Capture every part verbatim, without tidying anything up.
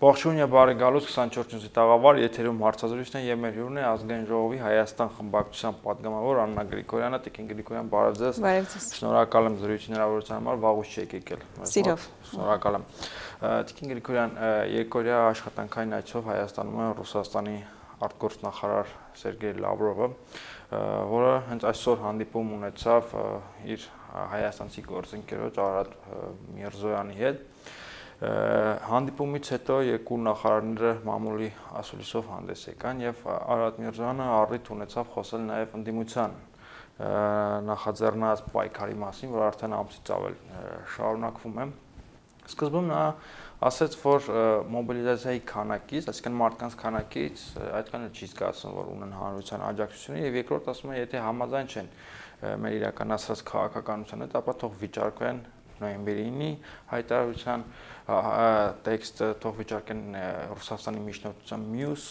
Ողջույն եւ բարի գալուց քսանչորս նյութի տաղավար, եթերում հարցազրույցն է եւ մեր հյուրն է Ազգային ժողովի Հայաստան խմբակցության պատգամավոր Աննա Գրիգորյանը, Տիկին Գրիգորյան, բարև ձեզ։ Շնորհակալ եմ զրույցի հնարավորության համար, վաղուց չեք եկել։ Սիրով։ Շնորհակալ եմ։ Տիկին Գրիգորյան, երկօրյա աշխատանքային այցով Հայաստանում է Ռուսաստանի արտգործնախարար Սերգեյ Լավրովը, որը հենց այսօր հանդիպում ունեցավ իր հայաստանցի գործընկերոջ Արադ Միրզոյանի հետ։ Հանդիպումից հետո երկու նախարարները մամուլի ասուլիսով հանդես եկան եւ Արադ Միրզոյանը առիթ ունեցավ խոսել նաեւ ընդդիմության նախաձեռնած պայքարի մասին, որ արդեն ամսից ավել շարունակվում է։ Սկզբում նա ասաց, որ մոբիլիզացիայի քանակից, այսինքն մարդկանց քանակից այդքան չի զգացվում, որ ունեն հանրության աջակցությունը եւ երկրորդ ասում է, եթե համաձայն չեն մեր իրականացրած քաղաքականության հետ, ապա թող վիճարկեն նոյեմբերի ինը հայտարարության տեքստը, թող վիճարկեն Ռուսաստանի միջնորդության մյուս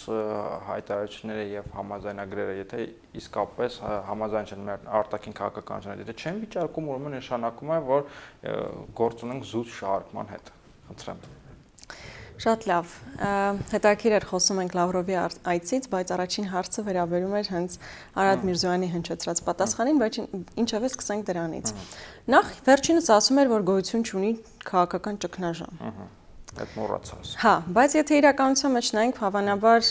հայտարարությունները եւ համաձայնագրերը, եթե իսկապես համաձայն չեն մեր արտաքին քաղաքականության հետ, եթե չեն վիճարկում, ուրեմն նշանակում է, որ գործ ունենք զուտ շահարկման հետ։ Խնդրեմ։ Շատ լավ, հետաքրքիր էր խոսում ենք Լավրովի այցից, բայց առաջին հարցը վերաբերում էր հենց Արադ Միրզոյանի հնչեցրած պատասխանին, բայց ինչևէ սկսենք դրանից։ Նախ վերջինս ասում էր, որ գոյություն չունի քաղաքական ճգնաժամ։ Այդ մոռացած։ Հա, բայց եթե իրականության մեջ նայենք, հավանաբար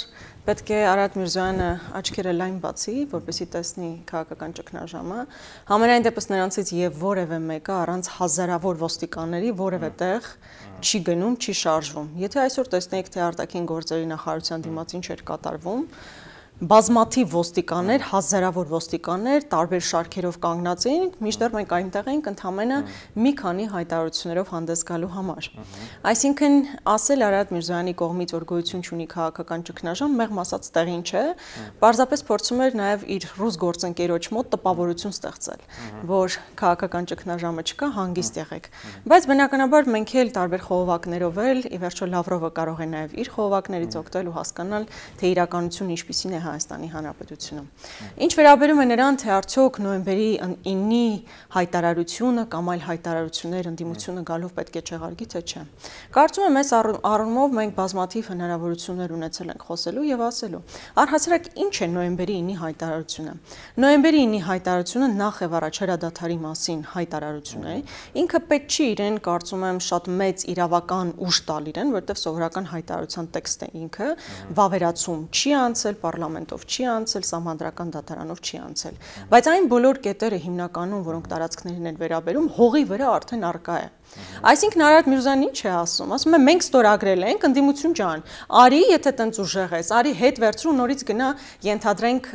պետք է Արադ Միրզոյանը աչքերը լայն բացի, որպեսզի տեսնի քաղաքական ճգնաժամը, համենայն դեպս նրանցից եւ որևէ մեկը առանց հազարավոր ոստիկանների որևէ տեղ չի գնում, չի շարժվում։ Եթե այսօր տեսնենք, թե արտաքին գործերի նախարարության դիմաց ինչ էր կատարվում, բազմաթիվ ոստիկաններ, հազարավոր ոստիկաններ, տարբեր շարքերով կանգնած էին, մինչդեռ մենք այնտեղ էինք ընդամենը մի քանի հայտարարություններով հանդես գալու համար։ Այսինքն, ասել Արադ Միրզոյանի կողմից, որ գոյություն չունի քաղաքական ճգնաժամ, մեղմ ասած տեղին չէ, պարզապես փորձում էր նաև իր ռուս գործընկերոջ մոտ տպավորություն ստեղծել, որ քաղաքական ճգնաժամը չկա, հանգիստ եղեք։ Բայց բնականաբար մենք էլ տարբեր խողովակներով էլ, ի վերջո Լավրովը կարող է նաև իր խողովակներից օգտվել ու հասկանալ, թե իրականությունն ինչպիսին է Հայաստանի Հանրապետությունում։ Ինչ վերաբերում է նրան, թե արդյոք նոյեմբերի ինը հայտարարությունը կամ այլ հայտարարություններ ընդդիմությունը գալով պետք է չեղարկի, թե չէ։ Կարծում եմ, այս առումով մենք բազմաթիվ հնարավորություններ ունեցել ենք խոսելու եւ ասելու։ Առհասարակ ինչ է նոյեմբերի ինը հայտարարությունը։ Նոյեմբերի ինը հայտարարությունը նախ եւ առաջ հրադադարի մասին հայտարարություն է։ Ինքը պետք չի իրեն, կարծում եմ, շատ մեծ իրավական ուժ տալ իրեն, որովհետեւ սովորական հայտարարության տեքստը ինքը վավերացում չի անցել, պարլամենտով չի անցել, սահմանադրական դատարանով չի անցել։ Բայց այն բոլոր կետերը հիմնականում, որոնք տարածքներին են վերաբերում, հողի վրա արդեն առկա է։ Այսինքն Արադ Միրզոյանն ինչ է ասում, ասում է մենք ստորագրել ենք, ընդդիմություն ջան, արի, եթե տենց ուժեղ ես, արի հետ վերցրու նորից գնա ենթադրենք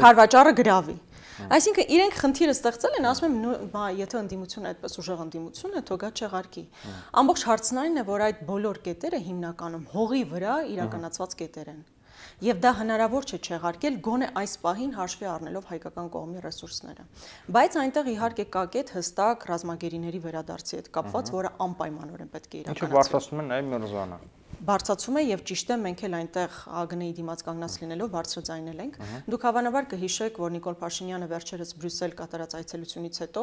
քարվաճառը գրավի։ Այսինքն իրենք խնդիրը ստեղծել են, ասում եմ, բա եթե ընդդիմությունը այդպես ուժեղ ընդդիմություն է, թող գա չեղարկի։ Ամբողջ հարցն այն է, որ այդ բոլոր կետերը հիմնականում հողի վրա իրականացված կետեր են։ Եվ դա հնարավոր չէ չեղարկել գոնե այս պահին հաշվի առնելով հայկական կողմի ռեսուրսները։ Բայց այնտեղ իհարկե կա կետ հստակ ռազմագերիների վերադարձի հետ կապված, որը անպայմանորեն պետք է իրականացվի։ Ինչու բարձրացնում են նաև Միրզոյանը։ Բարձրացում է եւ ճիշտ է, մենք էլ այնտեղ ԱԳՆ-ի դիմաց կանգնած լինելով բարձրաձայնել ենք։ Դուք հավանաբար կհիշեք, որ Նիկոլ Փաշինյանը վերջերս Բրյուսել կատարած այցելությունից հետո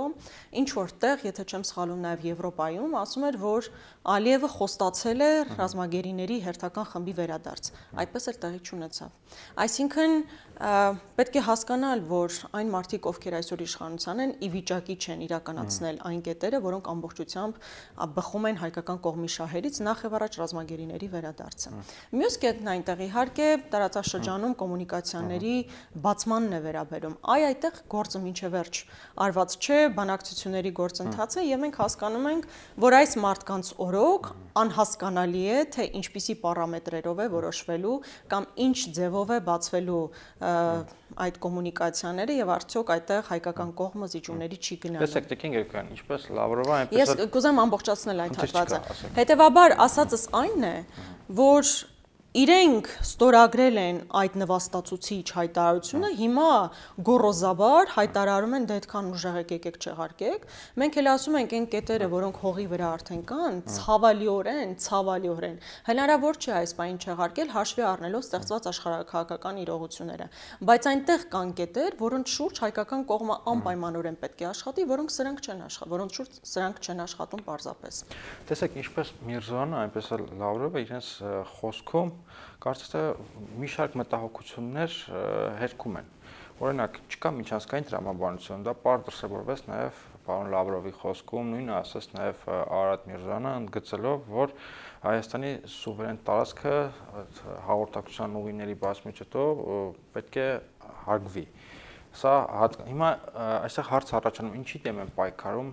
ինչ որտեղ, եթե չեմ սխալվում, նաեւ Եվրոպայում ասում էր, որ Ալիևը խոստացել է ռազմագերիների հերթական խմբի վերադարձ։ Այդպես էլ տեղի չունեցավ։ Այսինքն պետք է հասկանալ, որ այն մարդիկ, ովքեր այսօր իշխանության են, ի վիճակի չեն իրականացնել այն կետերը, որոնք ամբողջությամբ բխում են հայկական կողմի շահերից, նախ եւ առաջ ռազմագերիների վերադարձը։ Մյուս կետն այնտեղ իհարկե տարածաշրջանում կոմունիկացիաների բացմանն է վերաբերում։ Այ այդտեղ գործը մինչև վերջ արված չէ, բանակցությունների գործընթաց է եւ մենք հասկանում ենք, որ այս մարդկանց օրոք անհասկանալի է, թե ինչպիսի պարամետրերով է որոշվելու կամ ինչ ձևով է բացվելու այդ կոմունիկացիաները եւ արդյոք այդտեղ հայկական կողմը զիջումների չի գնալու։ Տեսեք, Տիկին Գրիգորյան, ինչպես Լավրովը, այնպես Ես կուզեմ ամբողջացնել այդ հատվածը։ Հետևաբար ասածս այն է, որ իրենք ստորագրել են այդ նվաստացուցիչ հայտարարությունը, հիմա գոռոզաբար հայտարարում են դե այդքան ուժեղ եք եկեք չեղարկեք։ Մենք էլ ասում ենք այն կետերը, որոնք հողի վրա արդեն կան, ցավալիորեն, ցավալիորեն հնարավոր չէ այս բանին չեղարկել հաշվի առնելով ստեղծված աշխարհաքաղաքական իրողությունները։ Բայց այնտեղ կան կետեր, որոնց շուրջ հայկական կողմը անպայմանորեն պետք է աշխատի, որոնք սրանք չեն աշխատում, որոնց շուրջ սրանք չեն աշխատում պարզապես։ Տեսեք, ինչպես Միրզոյանը, այնպես էլ Լավրովը իրենց խոսքում կարծես թե մի շարք մտահոգություններ հերքում են։ Օրինակ, չկա միջազգային տրամաբանություն, դա պարզ դրսևորվեց նաև պարոն Լավրովի խոսքում, նույնը ասաց նաև Արարատ Միրզոյանը, ընդգծելով, որ Հայաստանի սուվերեն տարածքը հաղորդակցության ուղիների բացումից հետո պետք է հարգվի։ Սա հիմա այստեղ հարց առաջանում, ինչի դեմ են պայքարում,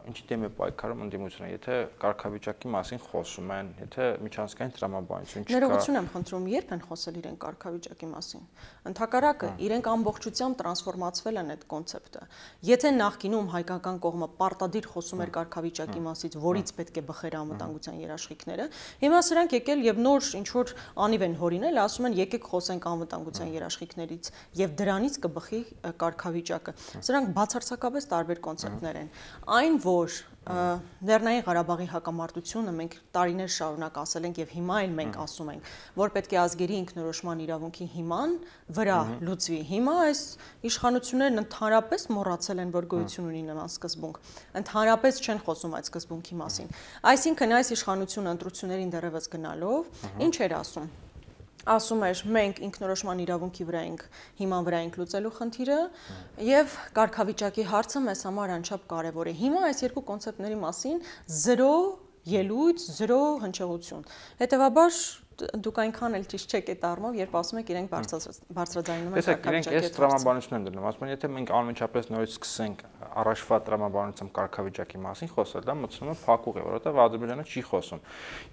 ինչի դեմ է պայքարում ընդդիմությունը, եթե կարգավիճակի մասին խոսում են, եթե միջազգային տրամաբանություն չկա։ Ներողություն եմ խնդրում, երբ են խոսել իրենք կարգավիճակի մասին։ Ընդհակառակը, իրենք ամբողջությամբ տրանսֆորմացվել են այդ կոնցեպտը։ Եթե նախկինում հայկական կողմը պարտադիր խոսում էր կարգավիճակի մասից, որից պետք է բխեր անվտանգության երաշխիքները, հիմա սրանք եկել եւ նոր ինչ որ անիվ են հորինել, ասում են եկեք խոսենք անվտանգության երաշխիքներից եւ դրանից կբխի կարգավիճակը։ Սրանք բացարձակապես տարբեր կոնցեպտներ են։ Այն, որ Լեռնային Ղարաբաղի հակամարտությունը մենք տարիներ շարունակ ասել ենք եւ հիմա էլ մենք ասում ենք, որ պետք է ազգերի ինքնորոշման իրավունքի հիման վրա լուծվի։ Հիմա այս իշխանություններն ընդհանրապես մոռացել են, որ գոյություն ունի նման սկզբունք։ Ընդհանրապես չեն խոսում այդ սկզբունքի մասին։ Այսինքն այս իշխանությունը ընտրություններին դեռևս գնալով ինչ էր ասում։ Ասում էր մենք ինքնորոշման իրավունքի վրա ենք հիման վրա ենք լուծելու խնդիրը եւ կարգավիճակի հարցը մեզ համար անչափ կարեւոր է։ Հիմա այս երկու կոնցեպտների մասին զրո ելույթ, զրո հնչեղություն։ Հետևաբար դուք այնքան էլ ճիշտ չեք այդ առումով, երբ ասում եք իրենք բարձրաձայնում են կարգավիճակի։ Տեսեք, իրենք այս տրամաբանությունն են դնում, ասում են, եթե մենք անմիջապես նորից սկսենք առաջվա տրամաբանությամբ կարգավիճակի մասին խոսել, դա մտցնում է փակուղ է, որովհետև Ադրբեջանը չի խոսում։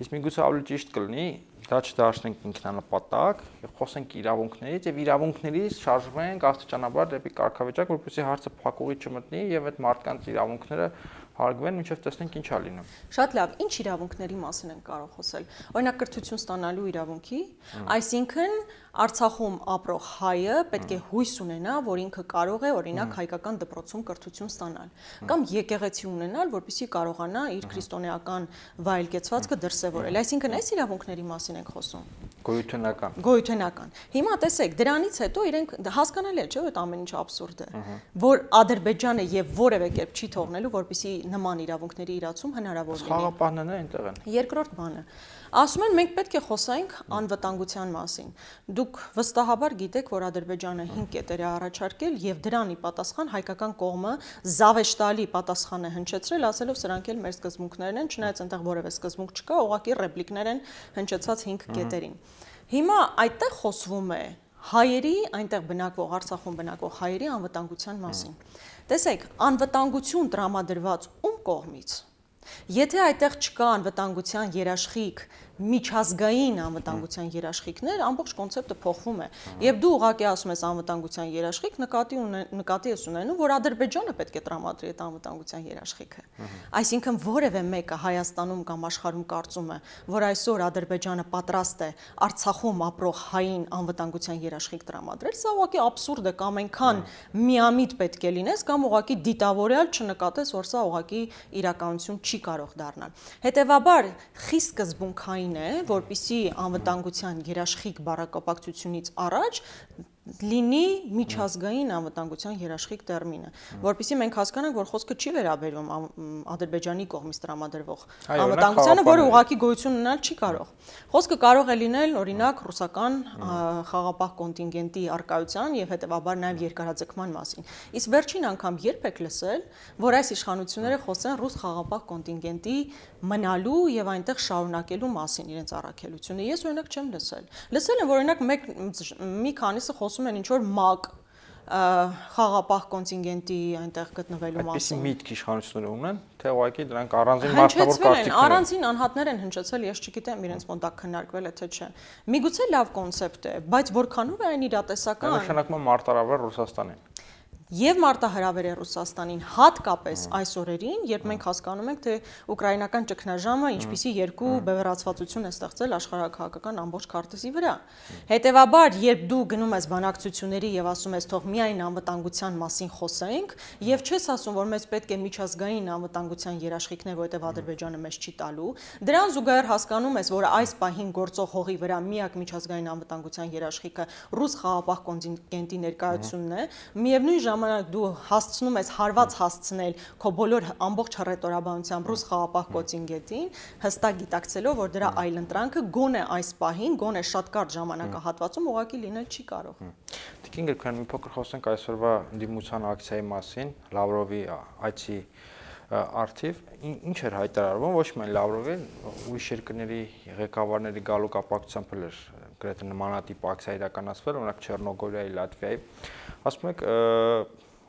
Իսկ միգուցե ավելի ճիշտ կլինի դա չդարձնենք ինքնանպատակ եւ խոսենք իրավունքներից եւ իրավունքներից շարժվենք աստիճանաբար դեպի կարգավիճակ, որպեսզի հարցը փակուղի չմտնի եւ այդ մարդկանց իրավունքները հարգվեն, մինչև տեսնենք ինչ է լինում։ Շատ լավ, ինչ իրավունքների մասին ենք կարող խոսել։ Օրինակ կրթություն ստանալու իրավունքի, այսինքն Արցախում ապրող հայը պետք է հույս ունենա, որ ինքը կարող է օրինակ հայկական դպրոցում կրթություն ստանալ, կամ եկեղեցի ունենալ, որպեսզի կարողանա իր քրիստոնեական վայելկեցվածքը դրսևորել։ Այսինքն այս իրավունքների մասին ենք խոսում։ Գոյութենական։ Գոյութենական։ Հիմա տեսեք, դրանից հետո իրենք հասկանալի է, չէ՞, այդ ամեն ինչ աբսուրդ է, որ Ադրբեջանը եւ որևէ կերպ չի թողնելու, որպեսզի նման իրավունքների իրացում հնարավոր լինի։ Խաղապահներն են այնտեղ են։ Երկրորդ բանը, ասում են մենք պետք է խոսենք անվտանգության մասին։ Դուք վստահաբար գիտեք, որ Ադրբեջանը հինգ կետեր է առաջարկել եւ դրան ի պատասխան հայկական կողմը զավեշտալի պատասխան է հնչեցրել, ասելով սրանք էլ մեր սկզբունքներն են, չնայած այնտեղ որևէ սկզբունք չկա, ուղղակի ռեպլիկներ են հնչեցած հինգ կետերին։ Հիմա այդտեղ խոսվում է հայերի, այնտեղ բնակվող, Արցախում բնակվող հայերի անվտանգության մասին։ Տեսեք, անվտանգություն տրամադրված ում կողմից։ Եթե այդտեղ չկա անվտանգության երաշխիք, միջազգային անվտանգության երաշխիքներ, ամբողջ կոնցեպտը փոխվում է։ Եվ դու ուղղակի ասում ես անվտանգության երաշխիք, նկատի նկատի ես ունենում, որ Ադրբեջանը պետք է տրամադրի այդ անվտանգության երաշխիքը։ Այսինքն որևէ մեկը Հայաստանում կամ աշխարհում կարծում է, որ այսօր Ադրբեջանը պատրաստ է Արցախում ապրող հային անվտանգության երաշխիք տրամադրել, սա ուղղակի աբսուրդ է, կամ այնքան միամիտ պետք է լինես, կամ ուղղակի դիտավորյալ չնկատես, որ սա ուղղակի իրականություն չի կարող դառնալ։ Հետևաբար խիստ սկզբունքային է, որպիսի անվտանգության երաշխիք բառակապակցությունից առաջ լինի միջազգային անվտանգության երաշխիք տերմինը, որպեսզի մենք հասկանանք, որ խոսքը չի վերաբերում Ադրբեջանի կողմից տրամադրվող անվտանգությանը, որը ուղղակի գոյություն ունենալ չի կարող։ Խոսքը կարող է լինել օրինակ ռուսական խաղապահ կոնտինգենտի առկայության եւ հետեւաբար նաեւ երկարաձգման մասին։ Իսկ վերջին անգամ երբ եք լսել, որ այս իշխանությունները խոսեն ռուս խաղապահ կոնտինգենտի մնալու եւ այնտեղ շարունակելու մասին իրենց առաքելությունը։ Ես օրինակ չեմ լսել։ Լսել եմ, որ օրինակ մեկ մի քանիսը խոսում են ինչ որ ՄԱԿ խաղապահ կոնտինգենտի այնտեղ գտնվելու մասին։ Այսպեսի միտք իշխանությունները ունեն, թե ուղղակի դրանք առանձին մարդավոր կարծիքներ են։ Առանձին անհատներ են հնչեցել, ես չգիտեմ իրենց մոտ դա քննարկվել է թե չէ։ Միգուցե լավ կոնցեպտ է, բայց որքանով է այն իրատեսական։ Նշանակում է մարտարավեր Ռուսաստանին։ եւ մարտահրավեր է Ռուսաստանին, հատկապես այս օրերին, երբ մենք հասկանում ենք, թե ուկրաինական ճգնաժամը ինչպիսի երկու բևեռացվածություն է ստեղծել աշխարհաքաղաքական ամբողջ քարտեզի վրա։ Հետևաբար, երբ դու գնում ես բանակցությունների եւ ասում ես, թող միայն անվտանգության մասին խոսենք, եւ չես ասում, որ մեզ պետք է միջազգային անվտանգության երաշխիքներ, որովհետեւ Ադրբեջանը մեզ չի տալու, դրան զուգահեռ հասկանում ես, որ այս պահին գործող հողի վրա միակ միջազգային անվտանգության երաշխիքը ռուս խաղաղապահ կոնտինգենտի ներկայությունն է, միևնույն ժամանակ դու հասցնում ես հարված հասցնել քո բոլոր ամբողջ հռետորաբանությամբ ռուս խաղաղապահ կոնտինգենտին, հստակ գիտակցելով, որ դրա այլընտրանքը գոնե այս պահին, գոնե շատ կարճ ժամանակահատվածում ուղղակի լինել չի կարող։ Տիկին Գրիգորյան, մի փոքր խոսենք այսօրվա դիմության ակցիայի մասին, Լավրովի այցի արդիվ, ինչ էր հայտարարվում, ոչ միայն Լավրովի, ուրիշ երկրների ղեկավարների գալու կապակցությամբ էր գրեթե նմանատիպ ակցիա իրականացվել, օրինակ Չեռնոգորիայի, Լատվիայի, ասում եք,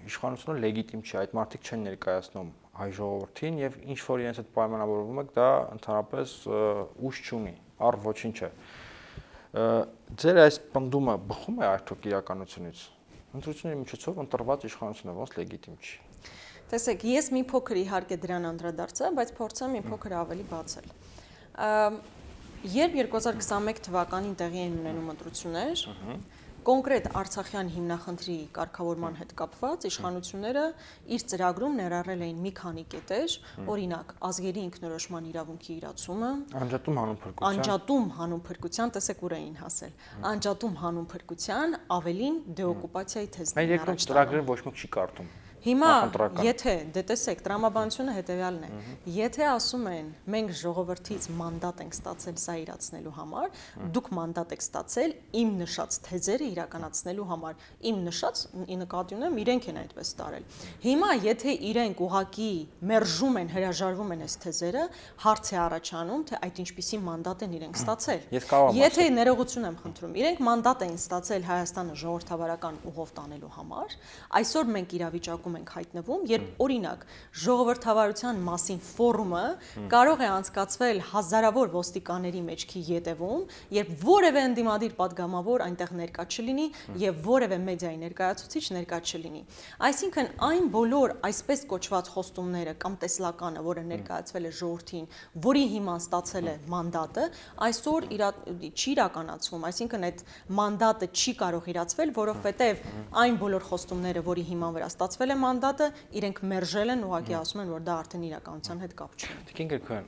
իշխանությունը լեգիտիմ չի, այդ մարդիկ չեն ներկայացնում հայ ժողովրդին եւ ինչ որ իրենց հետ պայմանավորվում եք, դա ընդհանրապես ուժ չունի, առ ոչինչ է։ Ձեր այս պնդումը բխում է արդյոք իրականությունից։ Ընտրությունների միջոցով ընտրված իշխանությունը ոնց լեգիտիմ չի։ Տեսեք, ես մի փոքր իհարկե դրան անդրադարձա, բայց փորձեմ մի փոքր ավելի բացել։ Երբ երկու հազար քսաներկու թվականին տեղի են ունենում ընտրություններ, կոնկրետ Արցախյան հիմնախնդրի կարգավորման հետ կապված իշխանությունները իր ծրագրում ներառել էին մի քանի կետեր, օրինակ ազգերի ինքնորոշման իրավունքի իրացումը, անջատում հանուն փրկության, անջատում հանուն փրկության, տեսեք ուր էին հասել, անջատում հանուն փրկության, ավելին դեօկուպացիայի թեզն են առաջ տանում։ Այդ երկրորդ ծրագրերը ոչ մեկ չի կարդում։ Հիմա, եթե, դե տեսեք, տրամաբանությունը հետևյալն է, եթե ասում են, մենք ժողովրդից մանդատ ենք ստացել սա իրացնելու համար, դուք մանդատ եք ստացել իմ նշած թեզերը իրականացնելու համար, իմ նշած նկատի ունեմ, իրենք են այդպես տարել։ Հիմա, եթե իրենք ուղղակի մերժում են, հրաժարվում են այս թեզերը, հարց է առաջանում, թե այդ ինչպիսի մանդատ են իրենք ստացել։ Եթե ներողություն եմ խնդրում, իրենք մանդատ էին ստացել Հայաստանը ժողովրդավարական ուղով տանելու համար, այսօր մենք իրավիճակում ենք հայտնվում, երբ օրինակ ժողովրդավարության մասին ֆորումը կարող է անցկացվել հազարավոր ոստիկանների մեջքի ետևում, երբ որևէ ընդդիմադիր պատգամավոր այնտեղ ներկա չլինի եւ որևէ մեդիայի ներկայացուցիչ ներկա չլինի։ Այսինքն այն բոլոր այսպես կոչված խոստումները կամ տեսլականը, որը ներկայացվել է ժողովրդին, որի հիման ստացել է մանդատը, այսօր չի իրականացվում, այսինքն այդ մանդատը չի կարող իրացվել, որովհետեւ այն բոլոր խոստումները, որի հիման վրա ստացվել է մանդատը, իրենք մերժել են, ուղղակի ասում են, որ դա արդեն իրականության հետ կապ չունի։ Տիկին Գրիգորյան,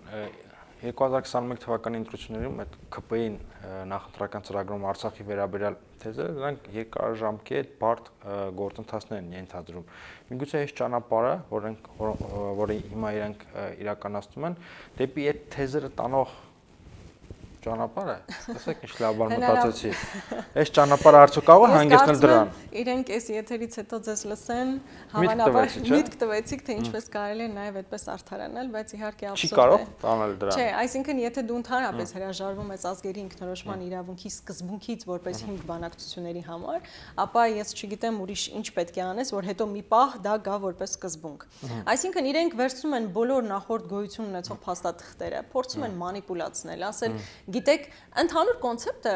երկու հազար քսաներկու թվականի ընտրություններում այդ K P I-ին նախընտրական ծրագրում Արցախի վերաբերյալ թեզերը, դրանք երկարաժամկետ բարդ գործընթացներ են ենթադրում։ Միգուցե այս ճանապարհը, որը հիմա իրենք իրականացնում են, դեպի այդ թեզերը տանող ճանապարհը, ասեք ինչ լավ բան մտածեցի։ Այս ճանապարհը արդյոք կարող է հանգեցնել դրան։ Իրենք այս եթերից հետո ձեզ լսեն, հավանաբար միտք տվեցիք, թե ինչպես կարելի է նաև այդպես արդարանալ, բայց իհարկե ափսոս է։ Չի կարող տանել դրան։ Չէ, այսինքն եթե դու ընդհանրապես հրաժարվում ես ազգերի ինքնորոշման իրավունքի սկզբունքից որպես հիմք բանակցությունների համար, ապա ես չգիտեմ ուրիշ ինչ պետք է անես, որ հետո մի պահ դա գա որպես սկզբունք։ Այսինքն իրենք վերցնում են բոլոր նախորդ գոյություն ունեցող փաստաթղթերը, փորձում են մանիպուլացնել, ասել գիտեք, ընդհանուր կոնցեպտը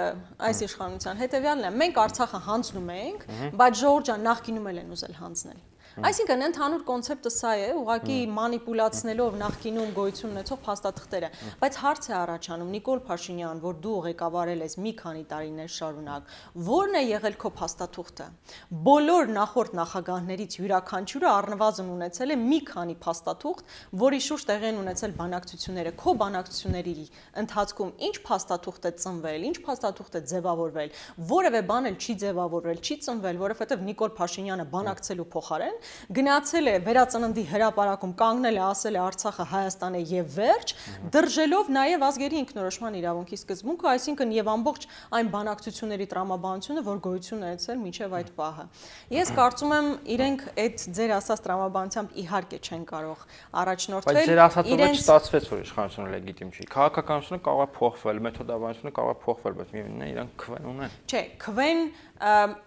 այս իշխանության հետևյալն է, մենք Արցախը հանձնում ենք, բայց ժողովուրդ ջան նախկինում էլ են ուզել հանձնել։ Այսինքն ընդհանուր կոնցեպտը սա է, ուղղակի մանիպուլացնելով նախկինում գոյություն ունեցող փաստաթղթերը, բայց հարց է առաջանում Նիկոլ Փաշինյան, որ դու ղեկավարել ես մի քանի տարիներ շարունակ, ո՞րն է եղել քո փաստաթուղթը։ Բոլոր նախորդ նախագահներից յուրաքանչյուրը առնվազն ունեցել է մի քանի փաստաթուղթ, որի շուրջ տեղի են ունեցել բանակցությունները։ Քո բանակցությունների ընթացքում ինչ փաստաթուղթ է ծնվել, ինչ փաստաթուղթ է ձևավորվել, որևէ բան էլ չի ձևավորվել, չի ծնվել, որովհետև Նիկոլ Փաշինյանը բանակցելու փոխարեն գնացել է վերածննդի հրապարակում, կանգնել է, ասել է Արցախը Հայաստան է եւ վերջ, դրժելով նաեւ ազգերի ինքնորոշման իրավունքի սկզբունքը, այսինքն եւ ամբողջ այն բանակցությունների տրամաբանությունը, որ գոյություն ունեցել մինչեւ այդ պահը։ Ես կարծում եմ, իրենք այդ ձեր ասած տրամաբանությամբ իհարկե չեն կարող առաջնորդվել։ Բայց ձեր ասածով էլ չստացվեց, որ իշխանությունը լեգիտիմ չի։ Քաղաքականությունը կարող է փոխվել, մեթոդաբանությունը կարող է փոխվել, բայց միևնույնն է, իրանք քվեն ունեն։ Չէ, քվեն,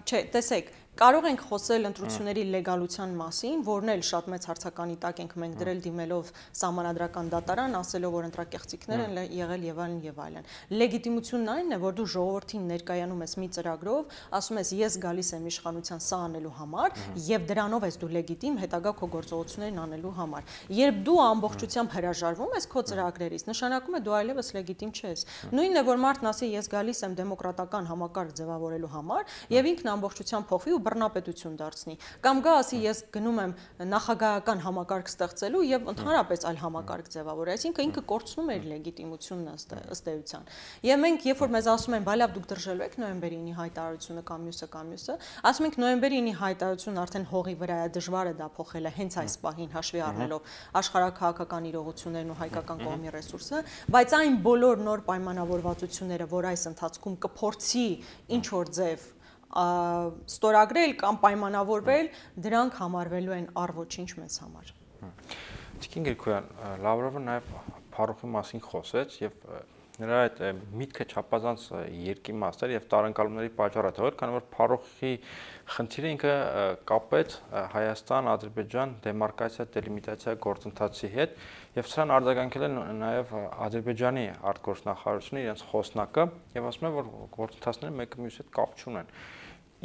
չէ, տեսեք, Կարող ենք խոսել ընտրությունների լեգալության մասին, որն էլ շատ մեծ հարցականի տակ ենք մենք դրել դիմելով սահմանադրական դատարան, ասելով, որ ընտրակեղծիքներ են եղել եւ այլն եւ այլն։ Լեգիտիմությունն այն է, որ դու ժողովրդին ներկայանում ես մի ծրագրով, ասում ես ես գալիս եմ իշխանության սա անելու համար եւ դրանով ես դու լեգիտիմ հետագա քո գործողություններն անելու համար։ Երբ դու ամբողջությամբ հրաժարվում ես քո ծրագրերից, նշանակում է դու այլևս լեգիտիմ չես։ Նույնն է, որ մարդն ասի ես գալիս եմ դեմոկրատական համակարգ ձևավորելու համար եւ ինքն ամբողջությամբ փոխվի ու բռնապետություն դարձնի, կամ գա ասի ես գնում եմ նախագահական համակարգ ստեղծելու եւ ընդհանրապես այլ համակարգ ձևավորել, այսինքն ինքը կորցնում է իր լեգիտիմությունն ըստ էության։ Եվ մենք երբ որ մեզ ասում են, բայ լավ դուք դրժելու եք նոյեմբերի ինի հայտարարությունը կամ մյուսը կամ մյուսը, ասում ենք նոյեմբերի ինի հայտարարությունն արդեն հողի վրա է, դժվար է դա փոխելը հենց այս պահին հաշվի առնելով աշխարհաքաղաքական իրողություններն ու հայկական կողմի ռեսուրսը, բայց այն բոլոր նոր պայմանավորվածությունները, որ այս ընթացքում կփորձի ինչ որ ձև ստորագրել կամ պայմանավորվել, դրանք համարվելու են առ ոչինչ մեզ համար։ Տիկին Գրիգորյան, Լավրովը նաև Փարոխի մասին խոսեց եւ նրա այդ միտքը չափազանց երկիմաստ էր եւ տարընկալումների պատճառը թողել, քանի որ Փարոխի խնդիրը ինքը կապեց Հայաստան, Ադրբեջան դեմարկացիա, դելիմիտացիա գործընթացի հետ եւ սրան արձագանքել են նաեւ Ադրբեջանի արտգործնախարարությունը իրենց խոսնակը եւ ասում են, որ գործընթացները մեկը մյուսի հետ կապ չունեն։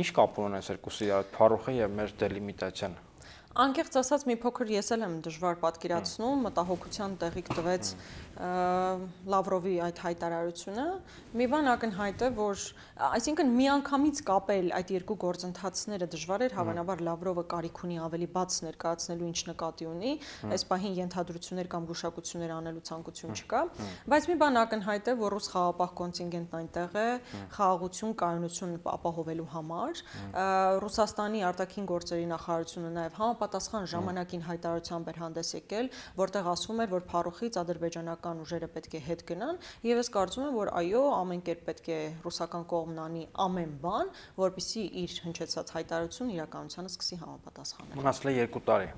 Ինչ կապ ունեն այս երկուսը իրար, Փարոխը եւ մեր դելիմիտացիան։ Անկեղծ ասած մի փոքր ես էլ եմ դժվար պատկերացնում, մտահոգության տեղիք տվեց Լավրովի այդ հայտարարությունը։ Մի բան ակնհայտ է, որ այսինքն միանգամից կապել այդ երկու գործընթացները դժվար էր, հավանաբար Լավրովը կարիք ունի ավելի բաց ներկայացնելու, ինչ նկատի ունի, այս պահին ենթադրություններ կամ գուշակություններ անելու ցանկություն չկա, բայց մի բան ակնհայտ է, որ ռուս խաղաղապահ կոնտինգենտն այնտեղ է խաղաղություն, կայունություն ապահովելու համար։ Ռուսաստանի արտաքին գործերի նախարարությունը նաև համապատասխան ժամանակին հայտարարությամբ էր հանդես եկել, որտեղ ասվում էր, որ Փարոխից ադրբեջանական ուժերը պետք է հետ գնան, եւ ես կարծում եմ, որ այո, ամեն կերպ պետք է ռուսական կողմն անի ամեն բան, որպեսզի իր հնչեցած հայտարարությունը իրականությանը սկսի համապատասխանել։ Մնացել է երկու տարի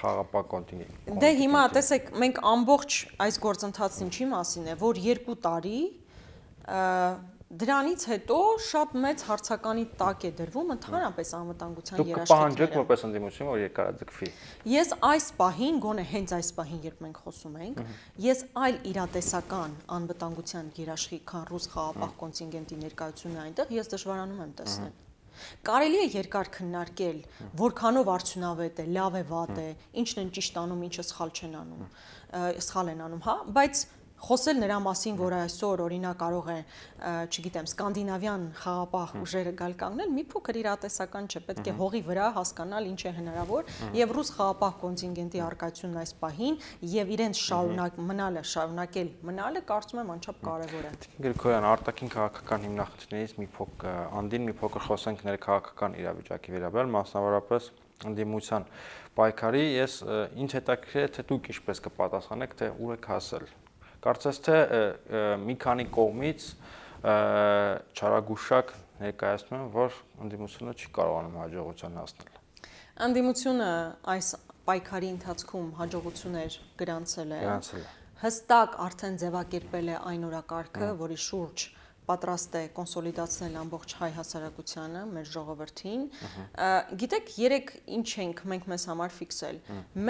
խաղաղապահ կոնտինգենտ։ Դե հիմա տեսեք, մենք ամբողջ այս գործընթացն ինչի մասին է, որ երկու տարի դրանից հետո շատ մեծ հարցականի տակ է դրվում ընդհանրապես անվտանգության երաշխիքները։ Դուք կպահանջեք որպես ընդդիմություն, որ երկարաձգվի։ Ես այս պահին, գոնե հենց այս պահին, երբ մենք խոսում ենք, ես այլ իրատեսական անվտանգության երաշխիք, քան ռուս խաղաղապահ կոնտինգենտի ներկայությունը այնտեղ, ես դժվարանում եմ տեսնել։ Կարելի է երկար քննարկել, որքանով արդյունավետ է, լավ է, վատ է, ինչն են ճիշտ անում, ինչը սխալ չեն անում, սխալ են անում, հա, բայց խոսել նրա մասին, որ այսօր օրինակ կարող է, չգիտեմ, սկանդինավյան խաղաղապահ ուժերը գալ կանգնել, մի փոքր իրատեսական չէ, պետք է հողի վրա հասկանալ ինչ է հնարավոր եւ ռուս խաղաղապահ կոնտինգենտի արկայությունն այս պահին եւ իրենց շարունակ մնալը, շարունակել մնալը կարծում եմ անչափ կարեւոր է։ Գրիգորյան, արտաքին քաղաքական հիմնախնդիրներից մի փոքր անդին մի փոքր խոսենք ներքաղաքական իրավիճակի վերաբերյալ, մասնավորապես ընդդիմության պայքարի, ես ինձ հետաքրքիր է թե դուք ինչպես կպատասխանեք, թե ուր եք հասել։ Կարծես թե մի քանի կողմից չարագուշակ ներկայացնում են, որ ընդդիմությունը չի կարողանում հաջողության հասնել։ Ընդդիմությունը այս պայքարի ընթացքում հաջողություններ գրանցել է։ Գրանցել է։ Հստակ արդեն ձևակերպել է այն օրակարգը, որի շուրջ պատրաստ է կոնսոլիդացնել ամբողջ հայ հասարակությանը, մեր ժողովրդին։ Գիտեք, երեք ինչ ենք մենք մեզ համար ֆիքսել։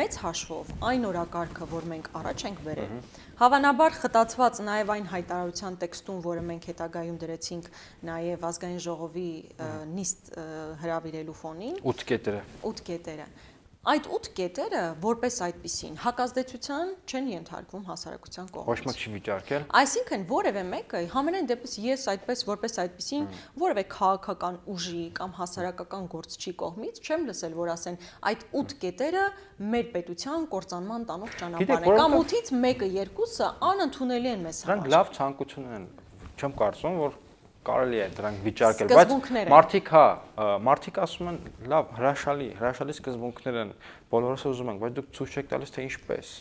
Մեծ հաշվով այն օրակարգը, որ մենք առաջ ենք բերել, հավանաբար խտացված նաև այն հայտարարության տեքստում, որը մենք հետագայում դրեցինք նաև ազգային ժողովի նիստ հրավիրելու ֆոնին։ ութ կետերը։ ութ կետերը։ Այդ ութ կետերը որպես այդպիսին հակազդեցության չեն ենթարկվում հասարակության կողմից։ Ոչ մեկ չի վիճարկել։ Այսինքն որևէ մեկը համենայն դեպս ես այդպես որպես այդպիսին որևէ քաղաքական ուժի կամ հասարակական գործչի կողմից չեմ լսել, որ ասեն այդ ութ կետերը մեր պետության կործանման տանող ճանապարհ են կամ ութից մեկը երկուսը անընդունելի են մեզ համար։ Դրանք լավ ցանկություն են, չեմ կարծում, որ կարելի է դրանք վիճարկել, բայց մարդիկ հա, մարդիկ ասում են, լավ, հրաշալի, հրաշալի սկզբունքներ են, բոլորս ուզում ենք, բայց դուք ցույց չեք տալիս թե ինչպես։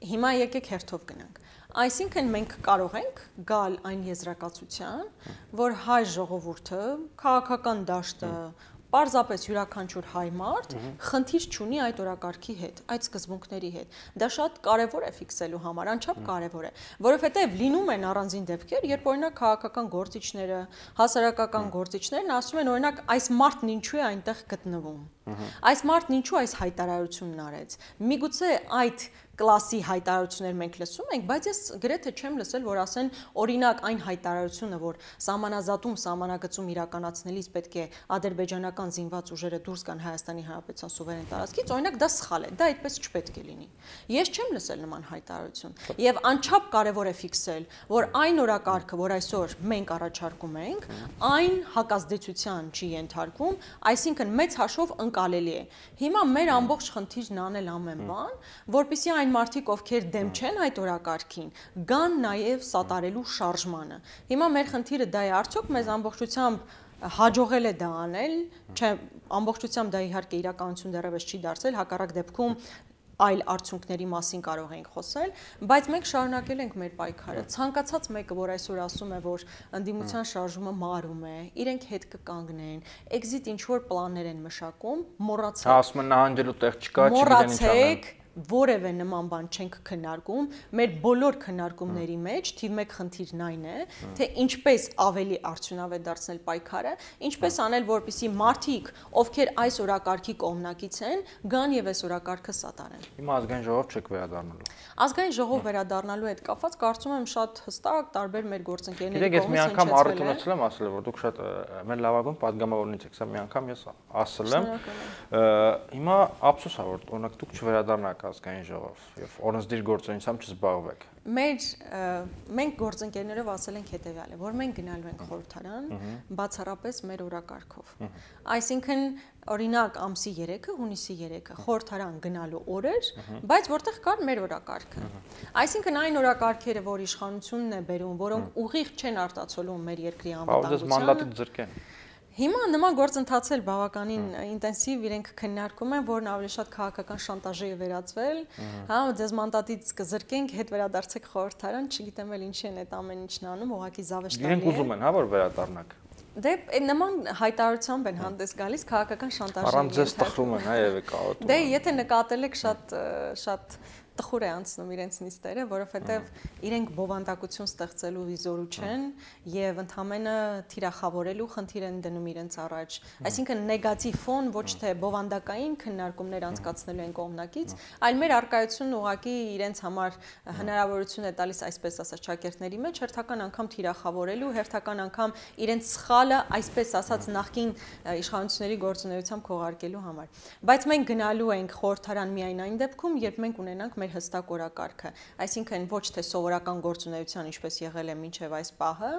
Հիմա եկեք հերթով գնանք։ Այսինքն մենք կարող ենք գալ այն եզրակացության, որ հայ ժողովուրդը, քաղաքական դաշտը, Պարզապես յուրաքանչյուր հայ մարդ խնդիր չունի այդ օրակարգի հետ, այդ սկզբունքների հետ։ Դա շատ կարևոր է ֆիքսելու համար, անչափ կարևոր է, որովհետև լինում են առանձին դեպքեր, երբ օրինակ քաղաքական գործիչները, հասարակական գործիչներն ասում են, օրինակ, այս մարդն ինչու է այնտեղ գտնվում։ Այս մարդն ինչու այս հայտարարությունն արեց։ Միգուցե այդ կլասի հայտարարություններ մենք լսում ենք, բայց ես գրեթե չեմ լսել, որ ասեն, օրինակ այն հայտարարությունը, որ սահմանազատում, սահմանագծում իրականացնելիս պետք է ադրբեջանական զինված ուժերը դուրս գան Հայաստանի Հանրապետության սուվերեն տարածքից, օրինակ դա սխալ է, դա այդպես չպետք է լինի։ Ես չեմ լսել նման հայտարարություն, եւ անչափ կարեւոր է ֆիքսել, որ այն օրակարգը, որ այսօր մենք առաջարկում ենք, այն հակազդեցության չի ենթարկվում, այսինքն մեծ հաշվով ընկալելի է։ Հիմա մեր ամբողջ խնդիրն անել ամեն բան, որպեսզի այն մարդիկ, ովքեր դեմ չեն այդ օրակարգին, գան նաև սատարելու շարժմանը։ Հիմա մեր խնդիրը դա է, արդյոք մեզ ամբողջությամբ հաջողել է դա անել, չէ, ամբողջությամբ դա իհարկե իրականություն դեռևս չի դարձել, հակառակ դեպքում այլ արդյունքների մասին կարող ենք խոսել, բայց մենք շարունակել ենք մեր պայքարը։ Ցանկացած մեկը, որ այսօր ասում է, որ ընդդիմության շարժումը մարում է, իրենք հետ կկանգնեն, exit ինչ-որ պլաններ են մշակում, մոռացեք։ Ասում են նահանջելու տեղ չկա, չգիտեն ինչ անեն։ Որևէ նման բան չենք քննարկում, մեր բոլոր քննարկումների մեջ թիվ մեկ խնդիրն այն է, թե ինչպես ավելի արդյունավետ դարձնել պայքարը, ինչպես անել, որպեսզի մարդիկ, ովքեր այս օրակարգի կողմնակից են, գան եւ այս օրակարգը սատարեն։ Հիմա ազգային ժողով չեք վերադառնալու։ Ազգային ժողով վերադառնալու հետ կապված կարծում եմ շատ հստակ տարբեր մեր գործընկերների կողմից հնչեցել է։ Ես մի անգամ առիթ ունեցել եմ ասել, որ դուք շատ մեր լավագույն падգամավորներից եք, սա մի անգամ ես ասել եմ։ Հիմա ափսոս է, որ օրինակ դուք չվերադառնաք ազգային ժողով եւ օրենսդիր գործունեությամբ չզբաղվեք։ Մեր մենք գործընկերներով ասել ենք հետեւյալը, որ մենք գնալու ենք խորհրդարան բացառապես մեր օրակարգով։ Այսինքն օրինակ ամսի երեքը, հունիսի երեքը խորհրդարան գնալու օր էր, բայց որտեղ կար մեր օրակարգը։ Այսինքն այն օրակարգերը, որ իշխանությունն է բերում, որոնք ուղիղ չեն արտացոլում մեր երկրի անվտանգությանը։ Հիմա նման գործընթացել բավականին ինտենսիվ իրենք քննարկում են, որն ավելի շատ քաղաքական շանտաժի է վերածվել, հա, ձեզ մանդատից կզրկենք, հետ վերադարձեք խորհրդարան, չգիտեմ էլ ինչի են այդ ամեն ինչն անում, ուղղակի զավեշտալի է։ Իրենք ուզում են, հա, որ վերադառնաք։ Դե նման հայտարարությամբ են հանդես գալիս քաղաքական շանտաժի։ Առանց ձեզ տխրում են, հա, եւ եկաոտում։ Դե եթե նկատել եք շատ շատ տխուր է անցնում իրենց նիստերը, որովհետև իրենք բովանդակություն ստեղծելու վիզորու չեն եւ ընդհանրապես թիրախավորելու խնդիր են դնում իրենց առաջ։ Այսինքն նեգատիվ ֆոն ոչ թե բովանդակային քննարկումներ անցկացնելու են կողմնակից, այլ մեր արկայությունն ուղղակի իրենց համար հնարավորություն է տալիս, այսպես ասած, շակերտների մեջ հերթական անգամ թիրախավորելու, հերթական անգամ իրենց սխալը, այսպես ասած, նախկին իշխանությունների գործունեությամբ քողարկելու համար։ Բայց մենք գնալու ենք խորհրդարան միայն այն դեպքում, երբ մենք ունենանք մեր հստակ օրակարգը, այսինքն ոչ թե սովորական գործունեության, ինչպես եղել է մինչև այս պահը,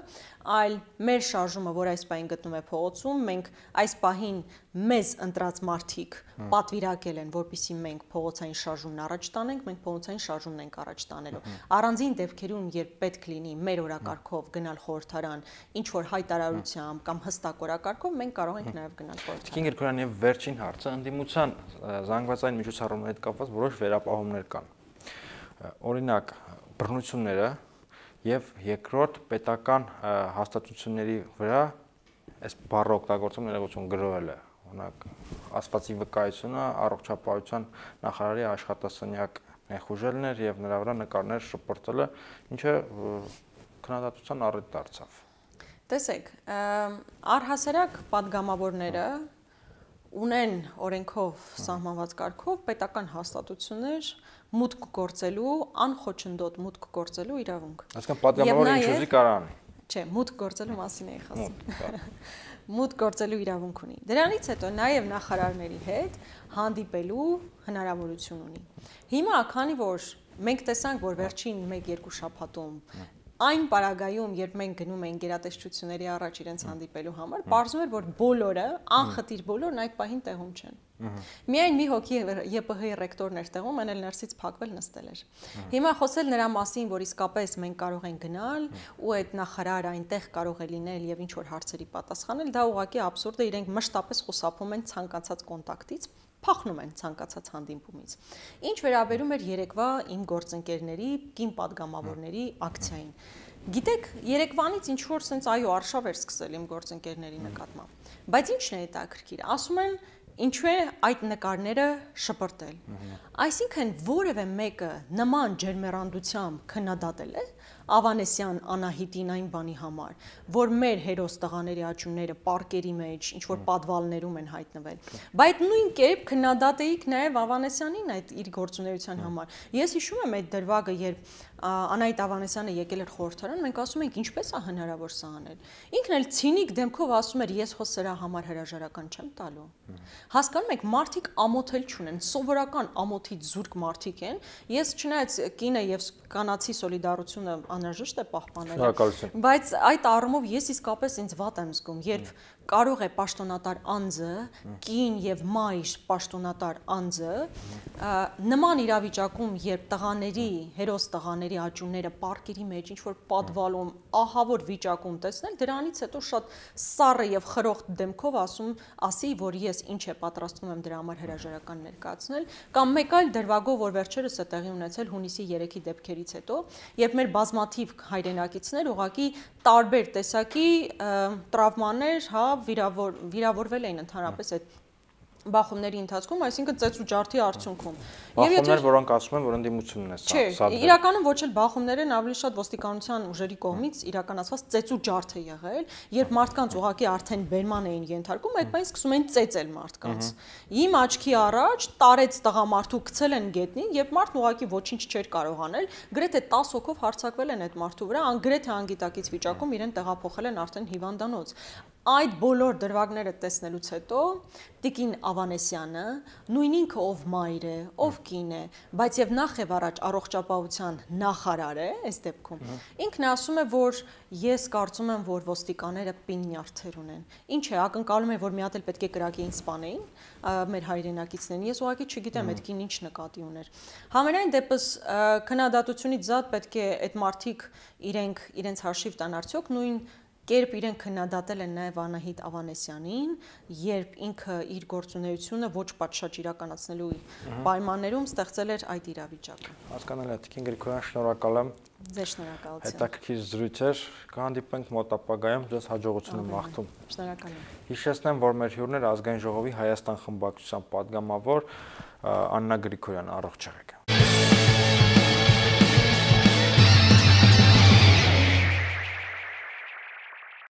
այլ մեր շարժումը, որ այս պահին գտնում է փողոցում, մենք այս պահին մեզ ընտրած մարդիկ պատվիրակել են, որպեսզի մենք փողոցային շարժումն առաջ տանենք, մենք փողոցային շարժումն ենք առաջ տանելու։ Առանձին դեպքերում, երբ պետք լինի մեր օրակարգով գնալ խորհրդարան, ինչ որ հայտարարությամբ կամ հստակ օրակարգով, մենք կարող ենք նաև գնալ խորհրդարան։ Իսկ Գերգորյան, եւ վերջին հարցը ընդդիմության զանգվածային միջոցառումների հետ կապված որոշ վերապահումներ կան։ Օրինակ բռնությունները եւ երկրորդ պետական հաստատությունների վրա այս բառը օգտագործում ներողություն գրոհել է, օրինակ ասվածի վկայությունը առողջապահության նախարարի աշխատասենյակ նեխուժելն էր եւ նրա վրա նկարներ շպրտելը, ինչը քննադատության առիթ դարձավ։ Տեսեք, առհասարակ падգամավորները ունեն օրենքով սահմանված կարգով պետական հաստատություններ մուտք գործելու, անխոչնդոտ մուտք գործելու իրավունք։ Այսինքն падգամավորը ինչ ուզի կարող անի։ Չէ, մուտք գործելու մասին էի խոսում։ Մուտք գործելու իրավունք ունի։ Դրանից հետո նաև նախարարների հետ հանդիպելու հնարավորություն ունի։ Հիմա, քանի որ մենք տեսանք, որ վերջին մեկ-երկու շաբաթում այն պարագայում, երբ մենք գնում ենք գերատեսչությունների առաջ իրենց հանդիպելու համար, պարզվում էր, որ բոլորը, անխտիր բոլորն այդ պահին տեղում չեն։ Միայն մի հոգի Ե Պ Հ-ի ռեկտորն էր տեղում, այն էլ ներսից փակվել նստել էր։ Հիմա խոսել նրա մասին, որ իսկապես մենք կարող ենք գնալ ու այդ նախարարը այնտեղ կարող է լինել եւ ինչ որ հարցերի պատասխանել, դա ուղղակի աբսուրդ է, իրենք մշտապես խուսափում են ցանկացած կոնտակտից, փախնում են ցանկացած հանդիպումից։ Ինչ վերաբերում էր երեկվա իմ գործընկերների, կին падգամավորների ակցիային։ Գիտեք, երեկվանից ինչ որ sense այո, արշավ էր սկսել իմ գործընկերների նկատմամբ։ Բայց ի՞նչն է հետաքրքիր։ Ասում են ինչու է այդ նկարները շպրտել։ Այսինքն որևէ մեկը նման ջերմեռանդությամբ քննադատել է Ավանեսյան Անահիտին այն բանի համար, որ մեր հերոս տղաների աճունները պարկերի մեջ ինչ որ պատվալներում են հայտնվել։ Բայց նույն կերպ քննադատեիք նաև Ավանեսյանին այդ իր գործունեության համար։ Ես հիշում եմ այդ դրվագը, երբ Անահիտ Ավանեսյանը եկել էր խորհրդարան, մենք ասում ենք ինչպես է հնարավոր սա անել։ Ինքն էլ ցինիկ դեմքով ասում էր ես հո սրա համար հրաժարական չեմ տալու։ Հասկանում եք, մարդիկ ամոթել չունեն, սովորական ամոթից զուրկ մարդիկ են։ Ես չնայած կինը եւ կանացի սոլիդարությունը անհրաժեշտ է պահպանել, բայց այդ առումով ես իսկապես ինձ վատ եմ զգում, երբ կարող է պաշտոնատար անձը, կին եւ մայր պաշտոնատար անձը նման իրավիճակում, երբ տղաների, հերոս տղաների աճունները պարկերի մեջ ինչ որ պատվալում, ահավոր վիճակում տեսնել, դրանից հետո շատ սառը եւ խրոխտ դեմքով ասում, ասի, որ ես ինչ է պատրաստվում եմ դրա համար հրաժարական ներկայացնել, կամ մեկ այլ դրվագով, որ վերջերս է տեղի ունեցել հունիսի երեքի դեպքերից հետո, երբ մեր բազմաթիվ հայրենակիցներ ուղղակի տարբեր տեսակի տրավմաներ, հա, վիրավոր վիրավորվել էին ընդհանրապես այդ բախումների ընթացքում, այսինքն ծեծ ու ջարդի արդյունքում։ Բախումներ, որոնք ասում են, որ ընդդիմությունն է սա։ Չէ, իրականում ոչ էլ բախումներ են, ավելի շատ ոստիկանության ուժերի կողմից իրականացված ծեծ ու ջարդ է եղել, երբ մարդկանց ուղղակի արդեն բերման էին ենթարկում, այդ բանից սկսում էին ծեծել մարդկանց։ Իմ աչքի առաջ տարեց տղամարդու գցել են գետնին, երբ մարդն ուղղակի ոչինչ չէր կարող անել, գրեթե տասը հոգով հարձակվել են այդ մարդու վրա, անգրեթե անգիտակից վիճակում իրեն տեղափոխել են արդեն հիվանդանոց։ Այդ բոլոր դրվագները տեսնելուց հետո Տիկին Ավանեսյանը, նույն ինքը ով մայր է, ով կին է, բայց եւ նախ եւ առաջ առողջապահության նախարար է, այս դեպքում, ինքն ասում է, որ ես կարծում եմ, որ ոստիկանները պին նյարդեր ունեն։ Ինչ է, ակնկալում է, որ մի հատ էլ պետք է կրակեին սպանեին մեր հայրենակիցներին։ Ես ուղղակի չգիտեմ այդ կին ինչ նկատի ուներ։ Համենայն դեպս քննադատությունից զատ պետք է այդ մարդիկ իրենք իրենց հաշիվ տան արդյոք նույն կերպ իրենք քննադատել են նաև Անահիտ Ավանեսյանին, երբ ինքը իր գործունեությունը ոչ պատշաճ իրականացնելու պայմաններում ստեղծել էր այդ իրավիճակը։ Հասկանալի է, Տիկին Գրիգորյան, շնորհակալ եմ։ Ձեզ շնորհակալություն։ Հետաքրքիր զրույց էր, կհանդիպենք մոտ ապագայում, ձեզ հաջողություն եմ մաղթում։ Շնորհակալ եմ։ Հիշեցնեմ, որ մեր հյուրն էր Ազգային ժողովի Հայաստան խմբակցության պատգամավոր Աննա Գրիգորյանը, առողջ եղեք։